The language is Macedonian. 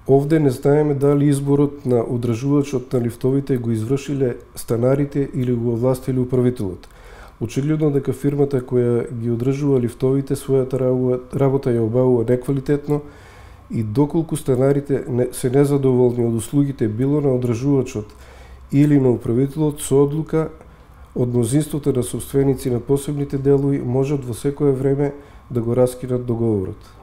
Овде не знаеме дали изборот на одржувачот на лифтовите го извршиле станарите или го овластиле управителот. Очигледно дека фирмата која ги одржува лифтовите својата работа ја обавува неквалитетно и доколку станарите се незадоволни од услугите било на одржувачот или на управителот, со одлука од мнозинството на собственици на посебните делови можат во секое време да го раскинат договорот.